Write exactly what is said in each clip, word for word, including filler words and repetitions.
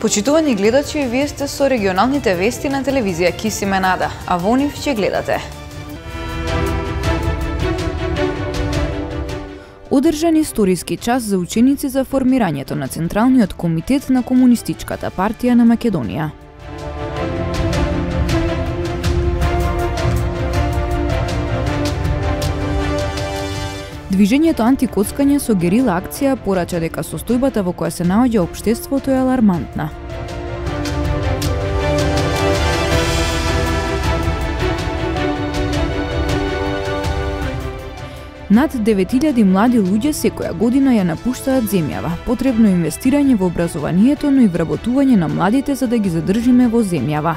Почитувани гледачи, вие сте со регионалните вести на телевизија Кисименада, а во нив ќе гледате. Одржан историски час за ученици за формирањето на Централниот комитет на Комунистичката партија на Македонија. Движењето антикоцкање со герила акција порача дека состојбата во која се наоѓа општеството е алармантна. Над девет илјади млади луѓе секоја година ја напуштаат земјава. Потребно е инвестирање во образованието, но и вработување на младите за да ги задржиме во земјава.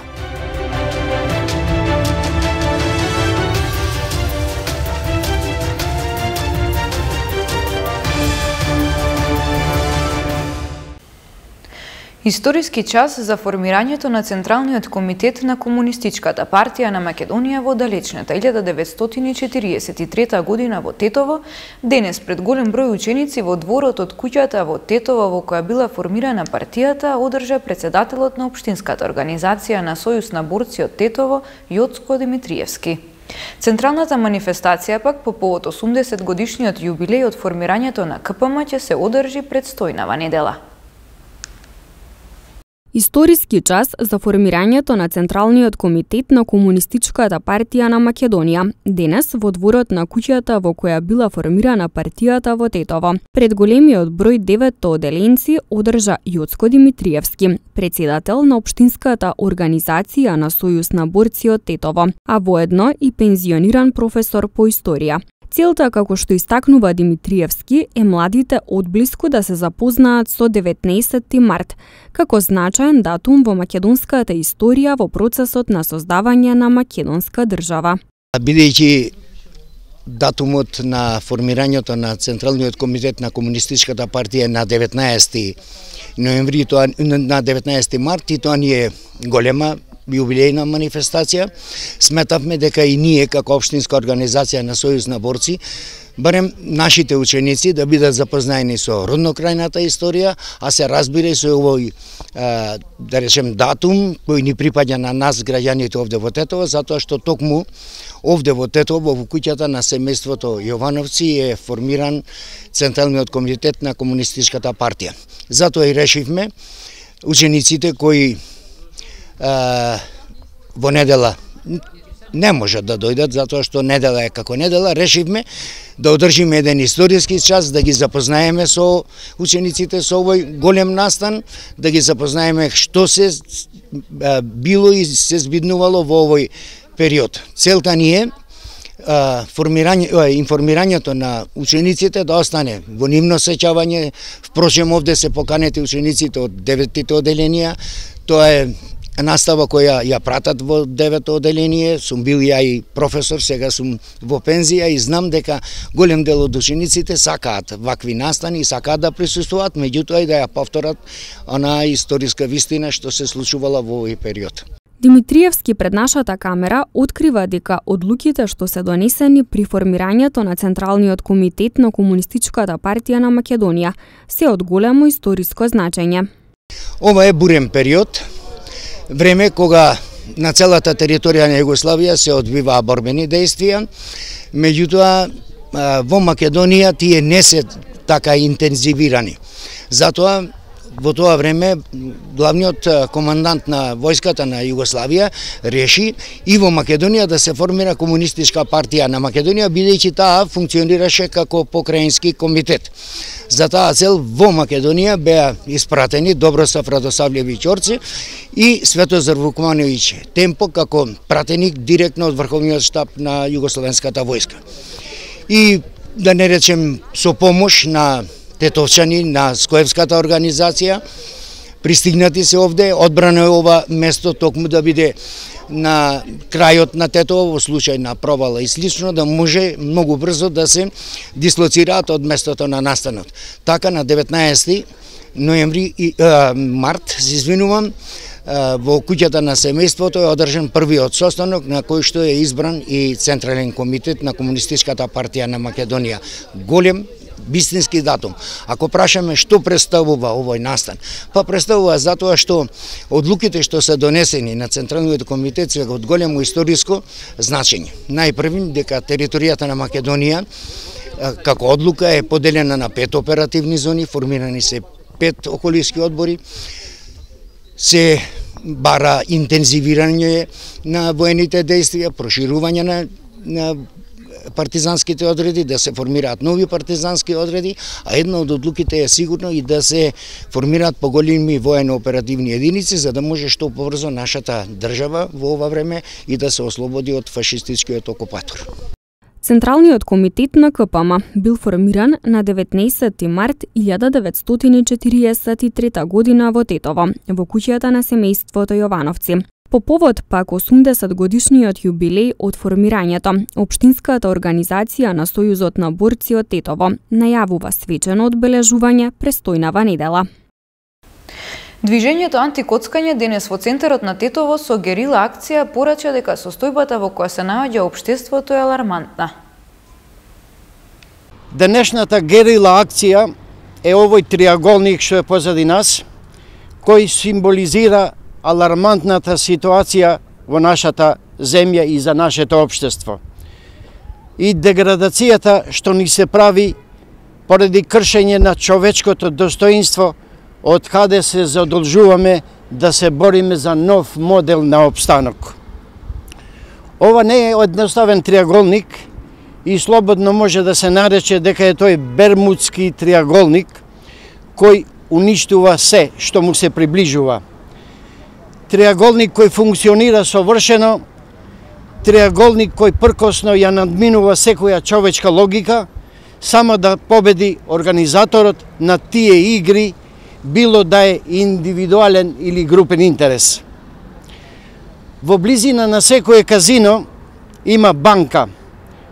Историски час за формирањето на Централниот комитет на Комунистичката партија на Македонија во далечната илјада деветстотини и четириесет и трета година во Тетово, денес пред голем број ученици во дворот од куќата во Тетово во која била формирана партијата, одржа председателот на општинската организација на Сојуз на борци од Тетово, Јоцко Димитриевски. Централната манифестација пак по повод осумдесет годишниот јубилеј од формирањето на К П М ќе се одржи предстојнава недела. Историски час за формирањето на Централниот комитет на Комунистичката партија на Македонија, денес во дворот на куќата во која била формирана партијата во Тетово. Пред големиот број деветто оделенци одржа Јоцко Димитриевски, председател на општинската организација на Сојуз на борци од Тетово, а воедно и пензиониран професор по историја. Целта, како што истакнува Димитриевски, е младите одблиску да се запознаат со деветнаесетти март, како значаен датум во македонската историја во процесот на создавање на македонска држава. Бидејќи датумот на формирањето на Централниот комитет на Комунистичката партија на деветнаесети ноември, тоа на деветнаесети март, и тоа ни е голема јубилејна манифестација, сметавме дека и ние како општинска организација на Сојуз на борци, барем нашите ученици да бидат запознаени со роднокрајната историја, а се разбира и со овој, да речем, датум кој ни припаѓа на нас граѓаните овде во Тетово, затоа што токму овде во Тетово во куќата на семејството Јовановци е формиран Централниот комитет на Комунистичката партија. Затоа и решивме учениците кои во недела не можат да дојдат, затоа што недела е како недела, решивме да одржиме еден историски час, да ги запознаеме со учениците со овој голем настан, да ги запознаеме што се било и се збиднувало во овој период. Целта ни е формирање, информирањето на учениците да остане во нивно сеќавање. Впрочем, овде се поканети учениците од деветите оделенија. Тоа е настава која ја пратат во девето оделение. Сум бил ја и професор, сега сум во пензија и знам дека голем дел од учениците сакаат вакви настани и сакаат да присуствуваат, меѓутоа и да ја повторат она историска вистина што се случувала во овој период. Димитриевски пред нашата камера открива дека одлуките што се донесени при формирањето на Централниот комитет на Комунистичката партија на Македонија се од големо историско значење. Ова е бурен период, време кога на целата територија на Југославија се одвиваа борбени дејствија, меѓутоа во Македонија тие не се така интензивирани. Затоа во тоа време главниот командант на војската на Југославија реши и во Македонија да се формира Комунистичка партија на Македонија, бидејќи таа функционираше како покраински комитет. За таа цел во Македонија беа испратени Добросав Радосављевиќ Орци и Светозар Вукмановиќ Темпо како пратеник директно од Врховниот штаб на Југословенската војска. И да не речем со помош на тетовчани, на Скоевската организација, пристигнати се овде, одбрано е ова место токму да биде на крајот на Тетово во случај на провала и слично, да може многу брзо да се дислоцираат од местото на настанот. Така на деветнаесети ноември и а, март, се извинувам, во куќата на семејството е одржан првиот состанок на кој што е избран и Централен комитет на Комунистичката партија на Македонија. Голем вистински датум. Ако прашаме што представува овој настан, па представува затоа што одлуките што се донесени на Централниот комитет се од големо историско значење. Најпрви дека територијата на Македонија како одлука е поделена на пет оперативни зони, формирани се пет околински одбори, се бара интензивирање на воените действија, проширување на, на партизанските одреди, да се формираат нови партизански одреди, а една од одлуките е сигурно и да се формираат поголеми воено-оперативни единици, за да може што побрзо нашата држава во ова време и да се ослободи од фашистичкиот окупатор. Централниот комитет на К П М бил формиран на деветнаесетти март илјада деветстотини четириесет и трета година во Тетово, во куќата на семејството Јовановци. По повод пак осумдесет годишниот јубилеј од формирањето, општинската организација на Сојузот на борци од Тетово најавува свечено одбележување престојнава недела. Движењето антикоцкање денес во центарот на Тетово со герила акција порача дека состојбата во која се наоѓа општеството е алармантна. Денешната герила акција е овој триаголник што е позади нас, кој символизира алармантната ситуација во нашата земја и за нашето општество. И деградацијата што ни се прави поради кршење на човечкото достоинство, од каде се задолжуваме да се бориме за нов модел на опстанок. Ова не е едноставен триаголник и слободно може да се нарече дека е тој бермудски триаголник кој уништува се што му се приближува. Триаголник кој функционира совршено, триаголник кој пркосно ја надминува секоја човечка логика, само да победи организаторот на тие игри, било да е индивидуален или групен интерес. Во близина на секое казино има банка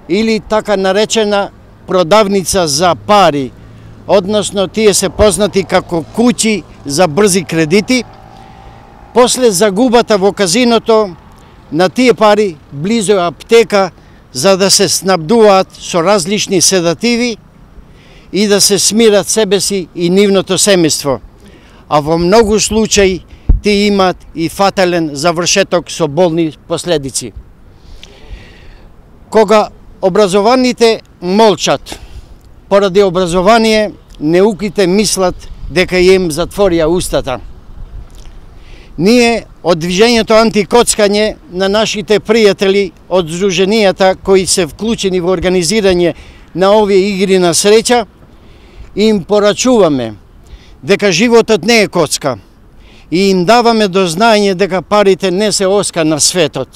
или така наречена продавница за пари, односно тие се познати како куќи за брзи кредити. После загубата во казиното на тие пари близо е аптека за да се снабдуваат со различни седативи и да се смират себе си и нивното семејство. А во многу случаи тие имаат и фатален завршеток со болни последици. Кога образованите молчат, поради образование неуките мислат дека им затворија устата. Ние од движењето антикоцкање на нашите пријатели од здруженијата кои се вклучени во организирање на овие игри на среќа, им порачуваме дека животот не е коцка и им даваме до знаење дека парите не се оска на светот.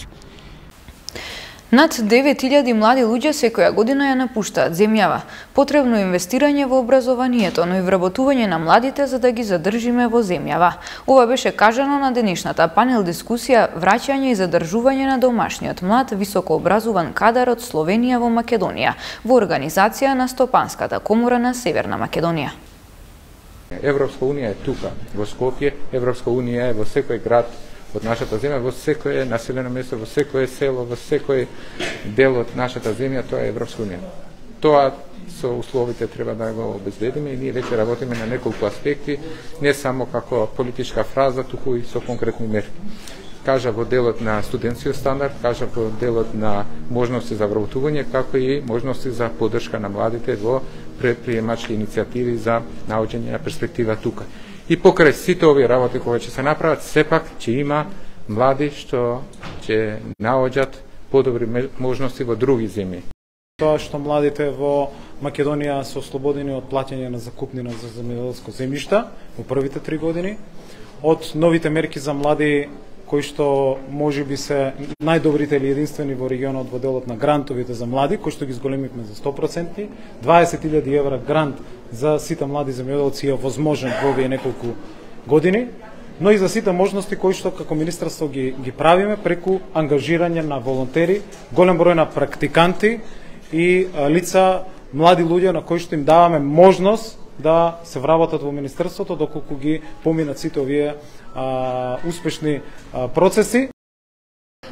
Над девет илјади млади луѓе секоја година ја напуштаат земјава. Потребно е инвестирање во образованието, но и вработување на младите за да ги задржиме во земјава. Ова беше кажано на денешната панел дискусија враќање и задржување на домашниот млад високообразуван кадар од Словенија во Македонија во организација на Стопанската комора на Северна Македонија. Европска унија е тука во Скопје, Европска унија е во секој град од нашата земја, во секое населено место, во секое село, во секој дел од нашата земја, тоа е Европска унија. Тоа со условите треба да го обезбедиме и ние веќе работиме на неколку аспекти, не само како политичка фраза, туку и со конкретни мерки. Кажа во делот на студентскиот стандард, кажа во делот на можности за вработување, како и можности за поддршка на младите во предприемачки иницијативи за наоѓање на перспектива тука. И покрај сите овие работи кои ќе се направат, сепак ќе има млади што ќе наоѓат подобри можности во други земји. Тоа што младите во Македонија се ослободени од плаќање на закупнина за земјоделско земјиште во првите три години, од новите мерки за млади кои што може би се најдобрите или единствени во регионот во делот на грантовите за млади, кои што ги зголемивме за сто проценти, дваесет илјади евра грант за сите млади земјоделци е возможен во овие неколку години, но и за сите можности кои што како министерство ги, ги правиме преку ангажирање на волонтери, голем број на практиканти и а, лица, млади луѓе на кои што им даваме можност да се вработат во министерството доколку ги поминат сите овие а, успешни а, процеси.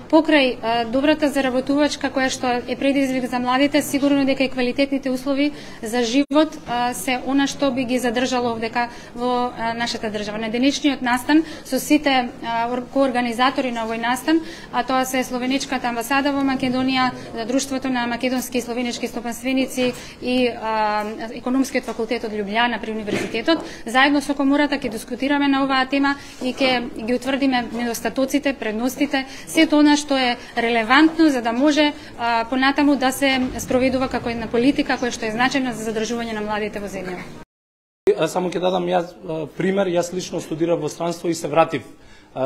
Покрај а, добрата заработувачка која што е предизвик за младите, сигурно дека и квалитетните услови за живот а, се она што би ги задржало овдека во а, нашата држава. На денешниот настан со сите а, коорганизатори на овој настан, а тоа се Словеничката амбасада во Македонија, Друштвото на македонски и словенички стопанственици и а, Економскиот факултет од Љубљана при универзитетот, заедно со комората ќе дискутираме на оваа тема и ќе ги утврдиме недостатоците, предностите, сето она што е релевантно за да може а, понатаму да се спроведува како една политика која што е значајна за задржување на младите во земја. Само ќе дадам јас пример, јас лично студирав во странство и се вратив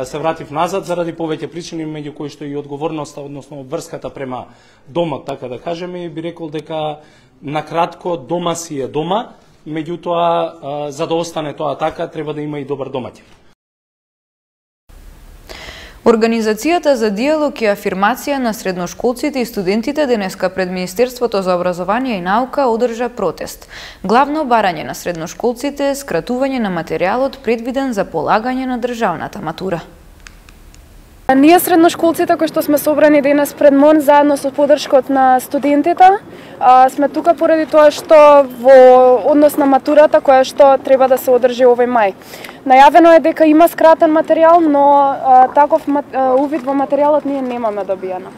се вратив назад заради повеќе причини, меѓу кои што и одговорноста, односно врската према домот, така да кажеме, и би рекол дека на кратко дома си е дома, меѓутоа за да остане тоа така треба да има и добар домаќин. Организацијата за диалог и афирмација на средношколците и студентите денеска пред Министерството за образование и наука одржа протест. Главно барање на средношколците е скратување на материјалот предвиден за полагање на државната матура. Ние средношколците кои што сме собрани денес пред МОН заедно со поддршкот на студентите, сме тука поради тоа што во однос на матурата која што треба да се одржи овој мај. Најавено е дека има скратен материјал, но таков увид во материјалот ние немаме добиено.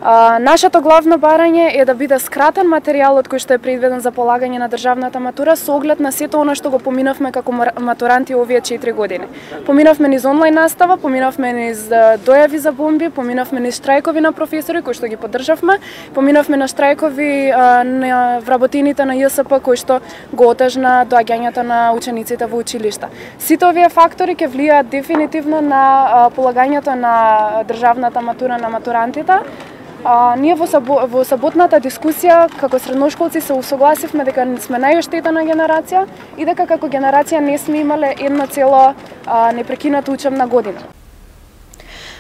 А, нашето главно барање е да биде скратен материјалот кој што е предвиден за полагање на државната матура со оглед на сето она што го поминавме како матуранти овие четири години. Поминавме низ онлайн настава, поминавме низ дојави за бомби, поминавме низ штрајкови на професори кои што ги поддржавме, поминавме на штрајкови а, на вработените на Ј С П кои што го отежна доаѓањето на учениците во училишта. Сите овие фактори ќе влијаат дефинитивно на а, полагањето на државната матура на матурантите. А, ние во, сабо, во саботната дискусија како средношколци се усогласивме дека сме најоштетена генерација и дека како генерација не сме имале едно цело а, непрекината учебна година.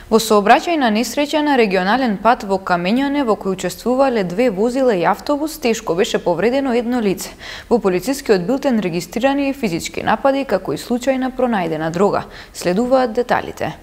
Во сообраќајна несреќа на регионален пат во Камењане во кој учествувале две возила и автобус, тешко беше повредено едно лице. Во полицискиот билтен регистрирани и физички напади како и случајна пронајдена дрога. Следуваат деталите.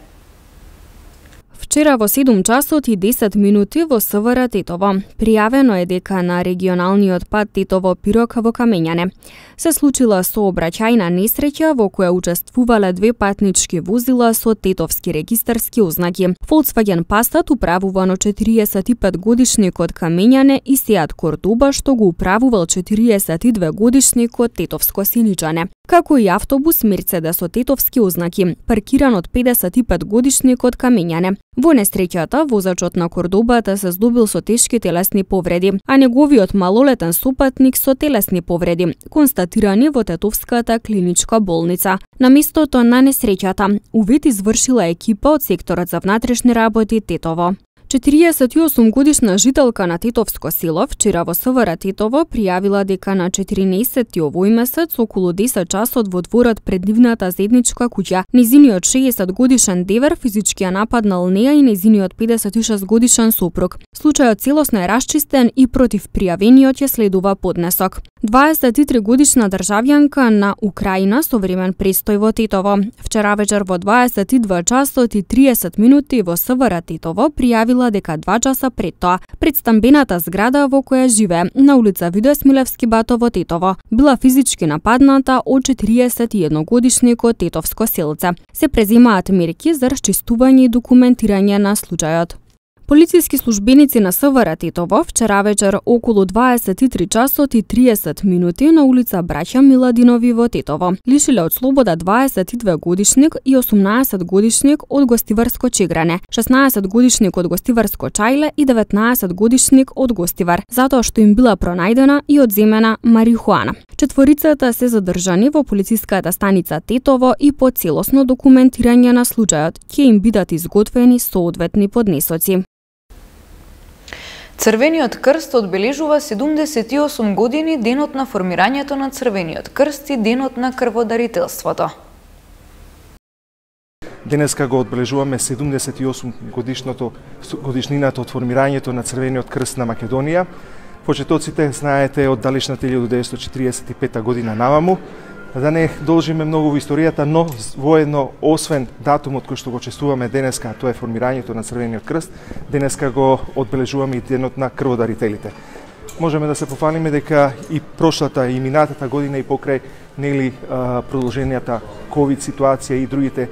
Вчера во седум часот и десет минути во С В Р Тетово. Пријавено е дека на регионалниот пат Тетово-Пирок во Камењане се случила сообраќајна несреќа во која учествувале две патнички возила со тетовски регистарски ознаки. Volkswagen Passat управувано четириесет и пет годишник од Камењане и Seat Cordoba што го управувал четириесет и две годишник од Тетовско Синичане, како и автобус Мерцедес со тетовски ознаки, паркиран од педесет и пет годишник од Камењане. Во несреќата, возачот на Кордобата се здобил со тешки телесни повреди, а неговиот малолетен сопатник со телесни повреди, констатирани во Тетовската клиничка болница. На местото на несреќата, увид извршила екипа од секторот за внатрешни работи Тетово. четириесет и осум годишна жителка на Тетовско село вчера во С В Р Тетово пријавила дека на четирнаесети овој месец околу десет часот во дворот пред нивната заедничка куќа нејзиниот шеесет годишен девер физички ја нападнал неа и нејзиниот педесет и шест годишен сопруг. Случајот целосно е расчистен и против пријавениот ја следува поднесок. дваесет и три годишна државјанка на Украина со времен престој во Тетово вчера вечер во дваесет и два часот и триесет минути во С В Р Тетово пријавила дека два часа пред тоа пред стамбената зграда во која живее на улица Видој Смилевски Бато во Тетово била физички нападната од четириесет и едно годишникот Тетовско селце. Се преземаат мерки за расчистување и документирање на случајот. Полициски службеници на С В Р Тетово вчера вечер околу дваесет и три часот и триесет минути на улица Браќа Миладинови во Тетово лишиле од слобода дваесет и две годишник и осумнаесет годишник од Гостиварско Чегране, шеснаесет годишник од Гостиварско Чајле и деветнаесет годишник од Гостивар, затоа што им била пронајдена и одземена марихуана. Четворицата се задржани во полициската станица Тетово и по целосно документирање на случајот ќе им бидат изготвени соодветни поднесоци. Црвениот крст одбележува седумдесет и осум години денот на формирањето на Црвениот крст и денот на крводарителството. Денеска го одбележуваме седумдесет и осум годишното годишнината од формирањето на Црвениот крст на Македонија. Почетоците знаете од далечната илјада деветстотини четириесет и пета година наваму да не должиме многу во историјата, но воедно, освен датумот кој што го чествуваме денеска, тоа е формирањето на Црвениот крст, денеска го одбележуваме и денот на крводарителите. Можеме да се пофалиме дека и прошлата и минатата година и покрај нели продолженијата ковид ситуација и другите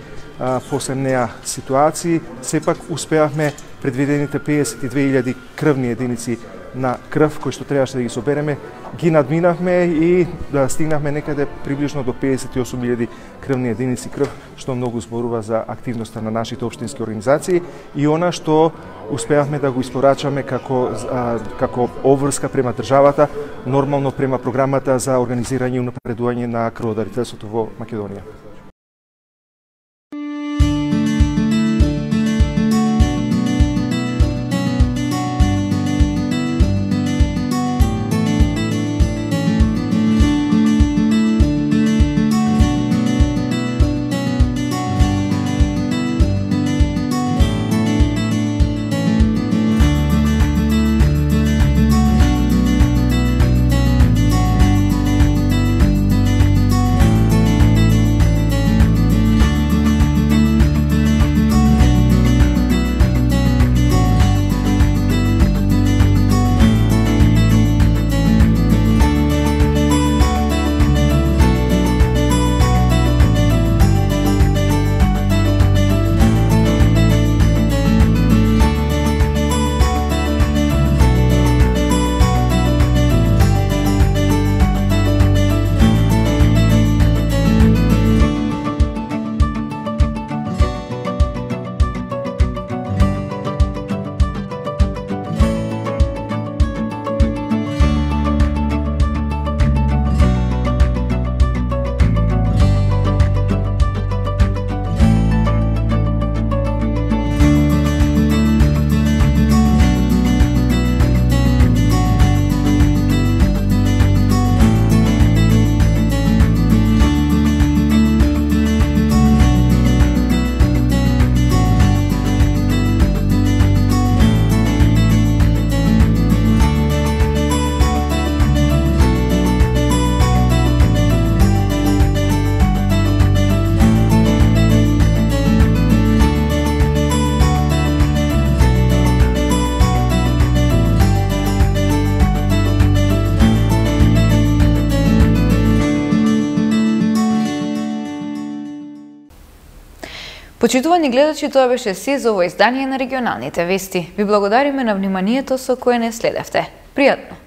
после неа ситуации, сепак успеавме предвидените песет и две илјади крвни единици на крв кои што требаше да ги собереме, ги надминавме и да стигнавме некаде приближно до песет и осум илјади крвни единици крв, што многу зборува за активноста на нашите општински организации и она што успеавме да го испорачаме како а, како обврска према државата, нормално према програмата за организирање и унапредување на крводарителството во Македонија. Почитувани гледачи, тоа беше се за ово издание на регионалните вести. Ви благодариме на вниманието со кое не следевте. Пријатно!